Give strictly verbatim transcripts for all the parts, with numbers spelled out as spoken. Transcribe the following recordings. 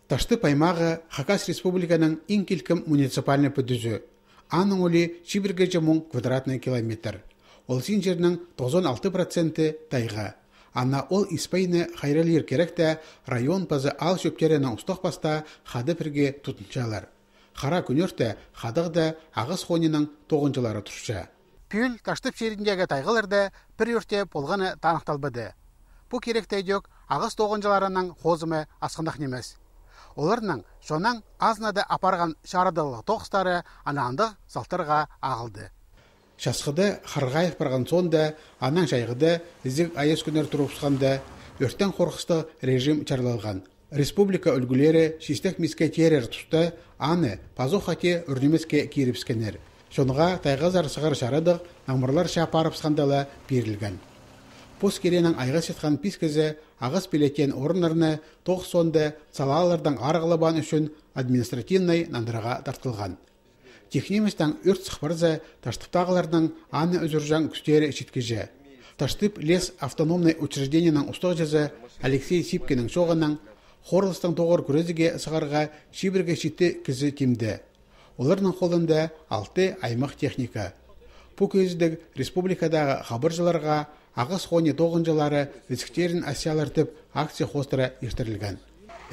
Таштып аймағы Хакас Республиканың иң килкім муниципальный пӱдізі. Аның улии чибіргеҷе муң квадратный километр. Ол син чирнің тоғызон алты проценті тайға. Ана ол испайны хайралир киректе район паза аал чӧптерінің устағ пастаа хада пірге тутынчалар. Хара кӱнӧрте хадағда ағас хониның тоғынҷылары турча. Пӱӱл Таштып чиріндегі тайғаларда пір ӧрте полғаны таныхталбады. Пу киректе идӧк ағас тоғынҷыларының хозымы асхынах нимес. Оларның чоннаң азынада апарған чарадығлығ тоғыстары ана андағ салтарға ағылды. Часхыда харғайып парған соонда, анаң чайғыда ізіг айас кӱннер турыбысханда, ӧртең хорғыстығ режим чарлалған. Республика ӱлгӱлері чистек миске тирер туста аны пазох хати ӱр нимеске кирібіскеннер. Чонға тайғазар сығар чарадығ наңмырларча парыбысханда ла пирілген. Пос киренің айғасчатхан пис кізі ағас пилетеен орыннарны тоғыс соонда салаалардаң арығлабаан ӱчӱн административнай нандырарға тартылған. Тик ниместең ӧрт сых парза, Таштыптағыларның аны ӱзӱрҷең кӱстері читкіҷе. Таштып лес автономнай учреждениенің устағҷызы Алексей Сипкиннің чооғынаң, хорылыстаң тоғыр кӱрезіге сығарға чибіргі читі кізі тимде. Оларның холында алты аймах техника. Пу кӧзідіг республикадағы хабарҷыларға ағас хони тоғынҷылары ізіктерін асчалар тіп акция хоостыра иртірілген.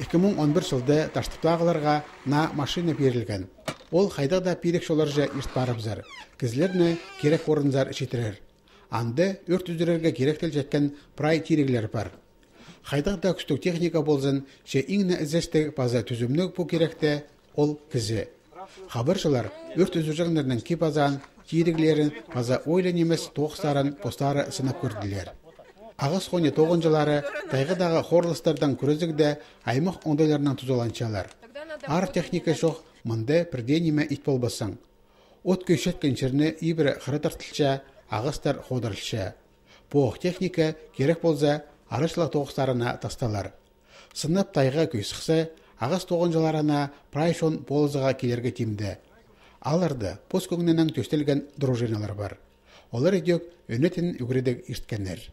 Ікі муң он пір чылда Таштыптағыларға наа машина пирілген. Ол хайдағ даа пирік чолларҷа ирт парыбызар, кізілерні кирек орынзар читірер. Анда ӧрт ӱзӱрерге киректелчеткен прай тиріглер пар. Хайдағ даа кӱстіг техника ползын, че иң не ізестіг паза тӱзімніг пу киректе — ол кізі. Хабарҷылар ӧрт ӱзӱрҷеңнернің кип-азаан, тиріглерін паза ойлан нимес тоғыстарын постары сынап кӧрділер. Ағас хони тоғынҷылары тайғадағы хорылыстардаң кӱрезігде аймах оңдайларнаң тузаланчалар. Аар техника чох, мында пір дее ниме ит полбассың. От кӧйчеткен чирні ибіре хыра тартылча, ағастар ходырылча. Пу ох техника, кирек полза, арачылығ тоғыстарына тасталар. Сынап тайға кӧй сыхса, ағас тоғынҷыларына прай чон полызыға килерге тимде. Аларны пос кӧңнінең тӧстелген дружиналар пар. Олар идӧк ӧнетін ӱгредіг ирткеннер.